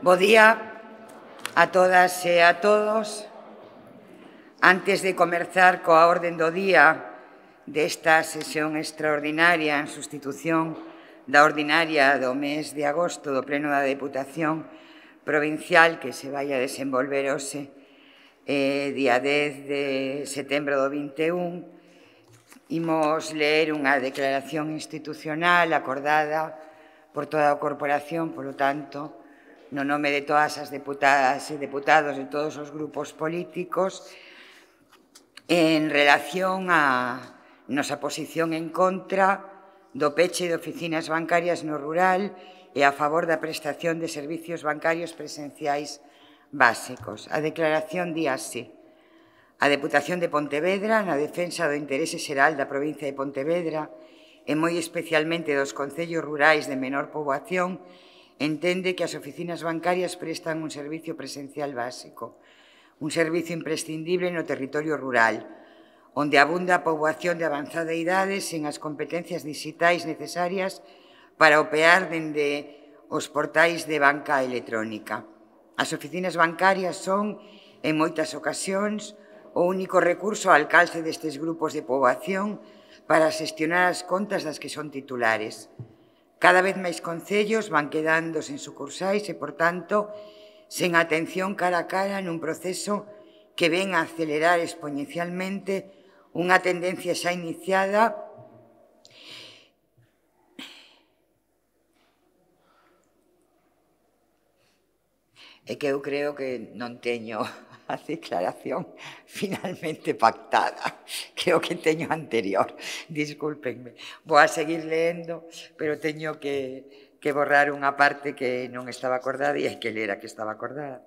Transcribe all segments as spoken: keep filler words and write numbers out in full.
Bo día a todas e a todos. Antes de comezar coa orden do día desta sesión extraordinaria en sustitución da ordinaria do mes de agosto do Pleno da Deputación Provincial que se vai a desenvolver hoxe, eh, día dez de setembro do vinte e un, imos ler unha declaración institucional acordada por toda a corporación, polo tanto, no nome de todas as deputadas e deputados de todos os grupos políticos, en relación á nosa posición en contra do peche de oficinas bancarias no rural e a favor da prestación de servicios bancarios presenciais básicos. A declaración di así: a Deputación de Pontevedra, na defensa do interese xeral da provincia de Pontevedra e moi especialmente dos concellos rurais de menor poboación, entende que as oficinas bancarias prestan un servicio presencial básico, un servicio imprescindible no territorio rural, onde abunda a poboación de avanzada idade sen as competencias digitais necesarias para opear dende os portais de banca electrónica. As oficinas bancarias son, en moitas ocasións, o único recurso ao alcance destes grupos de poboación para xestionar as contas das que son titulares. Cada vez máis concellos van quedando sen sucursais e, por tanto, sen atención cara a cara nun proceso que ven a acelerar exponencialmente unha tendencia xa iniciada e que eu creo que non teño a declaración finalmente pactada. Creo que teño anterior. Discúlpenme. Vou a seguir leendo, pero teño que, que borrar unha parte que non estaba acordada e hai que ler a que estaba acordada.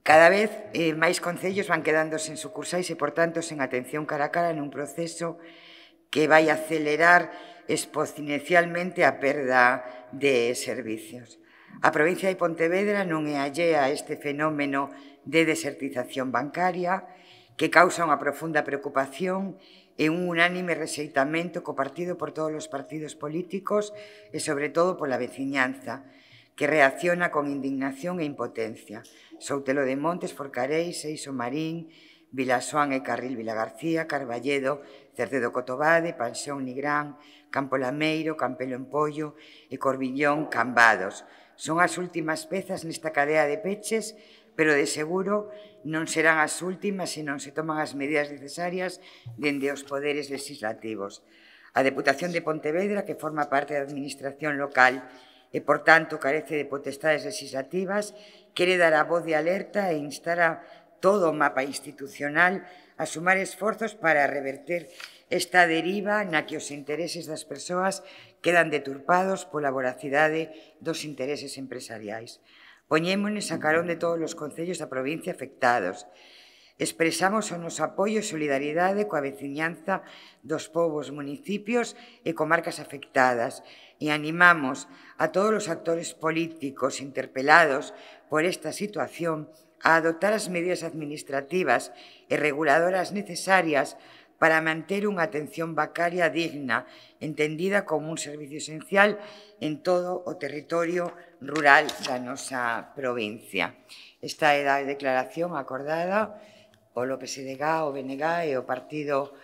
Cada vez eh, máis concellos van quedando sen sucursais e, por tanto, sen atención cara a cara nun proceso que vai acelerar exponencialmente a perda de servicios. A provincia de Pontevedra non é allea a este fenómeno de desertización bancaria que causa unha profunda preocupación e un unánime rexeitamento compartido por todos os partidos políticos e, sobre todo, pola veciñanza, que reacciona con indignación e impotencia. Soutelo de Montes, Forcareis, Eixo Marín, Vilasoán e Carril Vilagarcía, Carballedo, Cercedo Cotobade, Panxón Nigrán, Campo Lameiro, Campelo en Pollo e Corbillón Cambados. Son as últimas pezas nesta cadea de peches, pero de seguro non serán as últimas se non se toman as medidas necesarias dende os poderes legislativos. A Deputación de Pontevedra, que forma parte da administración local e, por tanto, carece de potestades legislativas, quere dar a voz de alerta e instar a todo o mapa institucional a sumar esforzos para reverter esta deriva na que os intereses das persoas quedan deturpados pola voracidade dos intereses empresariais. Poñémonos a carón de todos os concellos da provincia afectados. Expresamos o noso apoio e solidariedade coa veciñanza dos povos, municipios e comarcas afectadas e animamos a todos os actores políticos interpelados por esta situación a adoptar as medidas administrativas e reguladoras necesarias para manter unha atención bancaria digna, entendida como un servicio esencial en todo o territorio rural da nosa provincia. Esta é a declaración acordada polo P S D G, o B N G e o Partido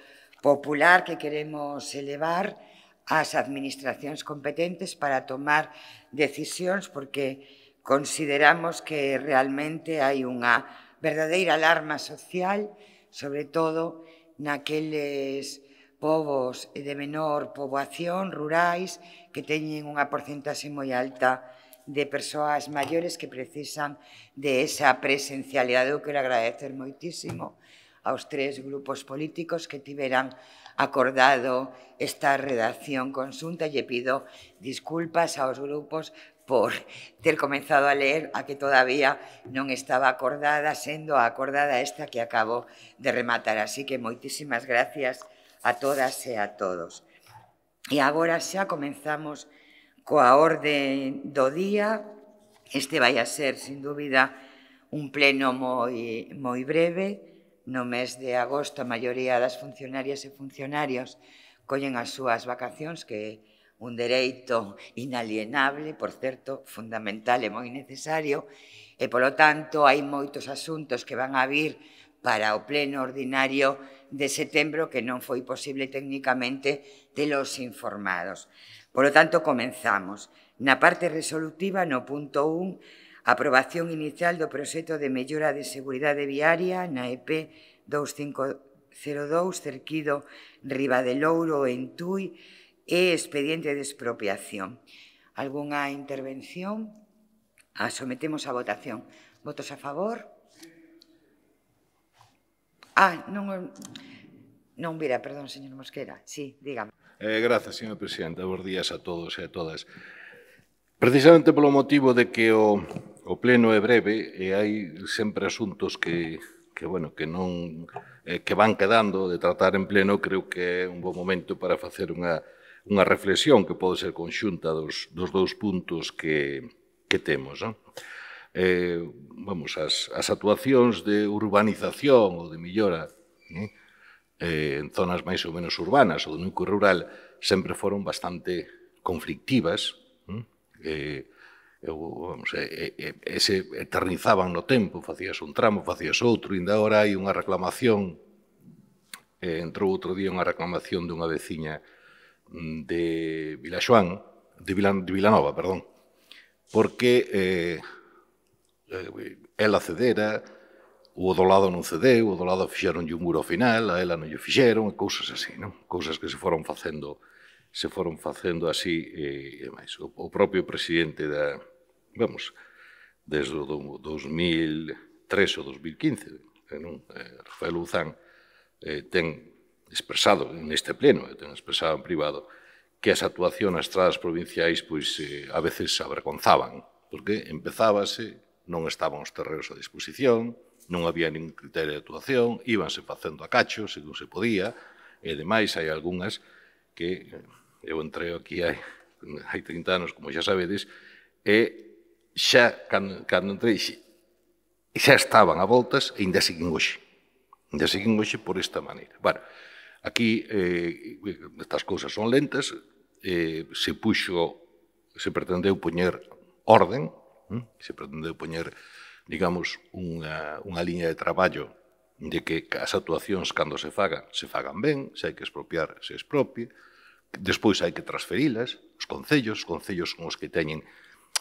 Popular que queremos elevar ás administracións competentes para tomar decisións porque consideramos que realmente hai unha verdadeira alarma social, sobre todo naqueles povos de menor poboación, rurais, que teñen unha porcentaxe moi alta de persoas maiores que precisan de esa presencialidade. Eu quero agradecer moitísimo aos tres grupos políticos que tiveran acordado esta redacción conxunta e lle pido disculpas aos grupos por ter comenzado a ler a que todavía non estaba acordada, sendo a acordada esta que acabo de rematar. Así que moitísimas gracias a todas e a todos. E agora xa comenzamos coa orde do día. Este vai a ser, sin dúbida, un pleno moi, moi breve. No mes de agosto, a maioría das funcionarias e funcionarios collen as súas vacacións, que un dereito inalienable, por certo, fundamental e moi necesario, e, polo tanto, hai moitos asuntos que van a vir para o pleno ordinario de setembro que non foi posible técnicamente telos informados. Polo tanto, comenzamos. Na parte resolutiva, no punto un, aprobación inicial do proxecto de mellora de seguridade viaria na E P veinticinco cero dous, Cerquido Ribadelouro en Tui, e expediente de expropiación. Algúnha intervención? A sometemos a votación. Votos a favor? Ah, non, non vira, perdón, señor Mosquera. Sí, dígame. Eh, grazas, señor Presidente. Bos días a todos e a todas. Precisamente polo motivo de que o, o pleno é breve e hai sempre asuntos que, que, bueno, que, non, eh, que van quedando de tratar en pleno, creo que é un bon momento para facer unha, unha reflexión que pode ser conxunta dos, dos dous puntos que, que temos. Non? Eh, vamos, as, as actuacións de urbanización ou de millora eh, eh, en zonas máis ou menos urbanas ou do núcleo rural sempre foron bastante conflictivas, eh, eu, vamos, eh, eh, e se eternizaban no tempo, facías un tramo, facías outro, e ainda agora hai unha reclamación, eh, entrou outro día unha reclamación dunha veciña de Vilaxoán, de, Vilan, de Vilanova, perdón, porque eh, ela cedera, o do lado non cedeu, o do lado fixeronlle un muro ao final, a ela non lle fixeron, cousas así, non? Cousas que se foron facendo se foron facendo así, e, e máis. O, o propio presidente da, vamos, desde o do, dos mil tres ou dos mil quince, non? Eh, Rafael Luzán, eh, ten expresado neste pleno, ten expresado en privado, que as actuacións nas estradas provinciais, pois, eh, a veces avergonzaban, porque empezábase, non estaban os terreos a disposición, non había ningún criterio de actuación, íbanse facendo a cacho, según se podía, e, ademais, hai algunhas que eu entrei aquí hai, hai trinta anos, como xa sabedes, e xa, cando, cando entrei, xa estaban a voltas e ainda siguen hoxe. Ainda siguen hoxe por esta maneira. Bueno, aquí eh, estas cousas son lentas, eh, se puxo, se pretendeu poñer orden, hm? se pretendeu poñer, digamos, unha, unha liña de traballo de que as actuacións, cando se fagan, se fagan ben, se hai que expropiar, se expropie, despois hai que transferilas, os concellos, os concellos son os que teñen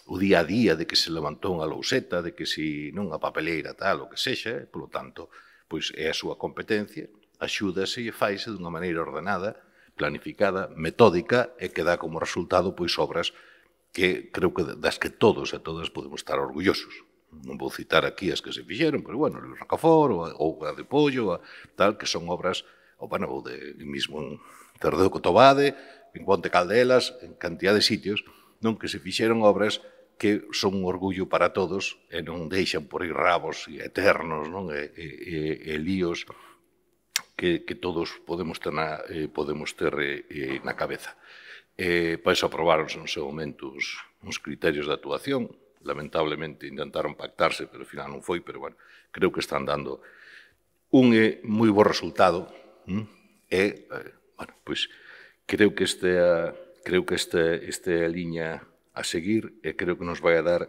o día a día de que se levantou unha louseta, de que se non a papeleira tal, o que sexa, e, polo tanto, pois é a súa competencia, axúdase e faise dunha maneira ordenada, planificada, metódica, e que dá como resultado pois obras que creo que das que todos e todas podemos estar orgullosos. Non vou citar aquí as que se fixeron, pero, bueno, o Rocafort, ou a de Pollo, a, tal, que son obras, ou, bueno, ou de mismo en Tardeo Cotobade, en Ponte Caldelas, en cantidad de sitios, non que se fixeron obras que son un orgullo para todos e non deixan por aí rabos eternos, non? E, e, e líos que, que todos podemos ter na, eh, podemos ter eh, na cabeza. Eh, para iso aprobaronse no seu momento uns, uns criterios de actuación, lamentablemente intentaron pactarse, pero ao final non foi, pero, bueno, creo que están dando un eh, moi bo resultado, hm? e, eh, bueno, pois, creo que este, creo que este, este liña a seguir e creo que nos vai a dar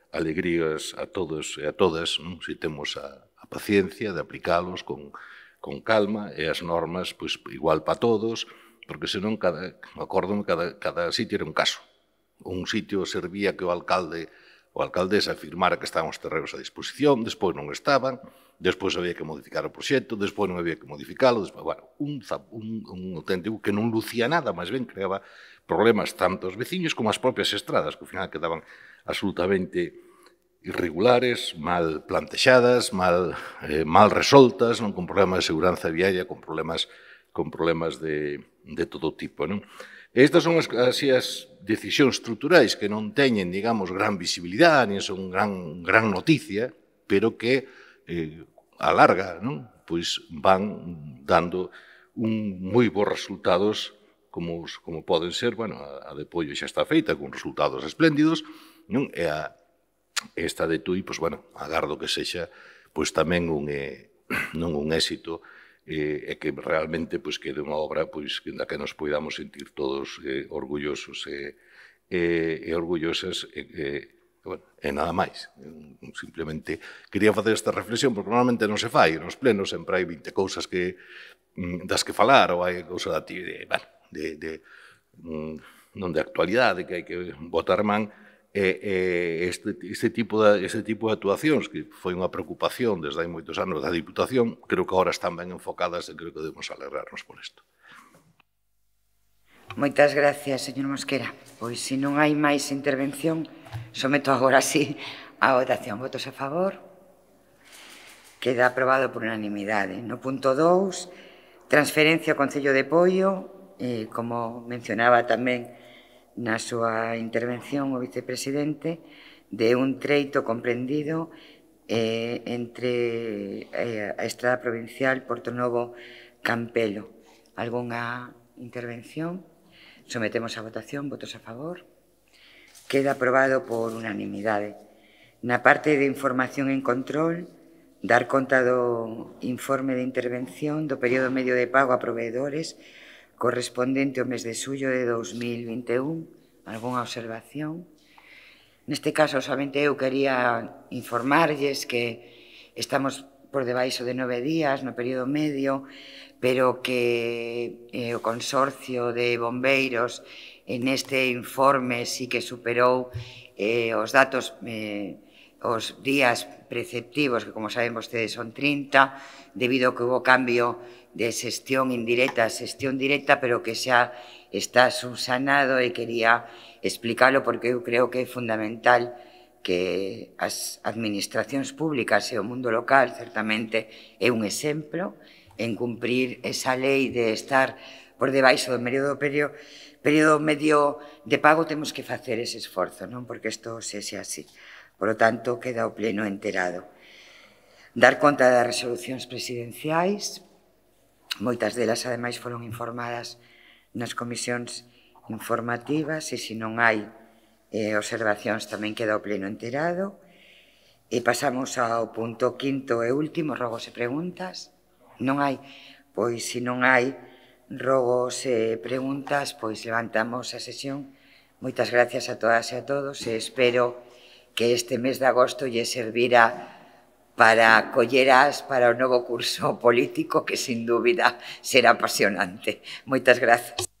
alegrías a todos e a todas, non? Se temos a, a paciencia de aplicalos con, con calma e as normas, pois, igual para todos, porque senón, cada, acórdome, cada, cada sitio era un caso. Un sitio servía que o alcalde o alcaldesa afirmara que estaban os terreos a disposición, despois non estaban, despois había que modificar o proxecto, despois non había que modificalo, despois, bueno, un, un, un auténtico que non lucía nada, máis ben creaba problemas tanto aos veciños como as propias estradas, que ao final quedaban absolutamente irregulares, mal plantexadas, mal, eh, mal resoltas, non, con problemas de seguranza viaria, con problemas, con problemas de, de todo tipo, non? Estas son as, así, as decisións estruturais que non teñen, digamos, gran visibilidade, nin son gran, gran noticia, pero que eh, a larga, non? Pois van dando un moi bons resultados como, como poden ser, bueno, a, a de Pollo xa está feita con resultados espléndidos, non? E a esta de Tui, pois, bueno, agardo que sexa pois tamén un, eh, non un éxito e, e que realmente pois, quede unha obra pois, da que nos podamos sentir todos eh, orgullosos e, e, e orgullosas e, e, bueno, e nada máis. Simplemente quería facer esta reflexión porque normalmente non se fai nos plenos, sempre hai vinte cousas que das que falar ou hai cousa da ti de, bueno, de, de non de actualidade que hai que botar man e, e este, este, tipo de, este tipo de actuacións que foi unha preocupación desde hai moitos anos da Diputación, creo que agora están ben enfocadas e creo que debemos alegrarnos por isto. Moitas gracias, señor Mosquera. Pois, se non hai máis intervención, someto agora sí a votación. Votos a favor. Queda aprobado por unanimidade. No punto dous, transferencia ao Concello de Poio, eh, como mencionaba tamén na súa intervención o vicepresidente, de un treito comprendido eh, entre eh, a Estrada Provincial Portonovo Campelo. Algúnha intervención? Sometemos a votación. Votos a favor. Queda aprobado por unanimidade. Na parte de información en control, dar conta do informe de intervención do período medio de pago a proveedores correspondente ao mes de xullo de dos mil vinte e un. Algúnha observación? Neste caso, somente eu quería informarlles que estamos por debaixo de nove días no período medio, pero que eh, o Consorcio de Bombeiros en este informe sí que superou eh, os datos, eh, os días preceptivos, que como saben vostedes son trinta, debido a que hubo cambio de xestión indirecta a xestión directa, pero que xa está subsanado e quería explicarlo porque eu creo que é fundamental que as administracións públicas e o mundo local certamente é un exemplo en cumprir esa lei de estar por debaixo do período, período medio de pago. Temos que facer ese esforzo, non? Porque isto sexe así. Por lo tanto, queda o pleno enterado. Dar conta das resolucións presidenciais. Moitas delas, ademais, foron informadas nas comisións informativas e, se non hai eh, observacións, tamén queda o pleno enterado. E pasamos ao punto quinto e último, rogos e preguntas. Non hai? Pois, se non hai rogos e preguntas, pois levantamos a sesión. Moitas gracias a todas e a todos e espero que este mes de agosto lle servira para colleras para o novo curso político que, sin dúbida, será apasionante. Moitas grazas.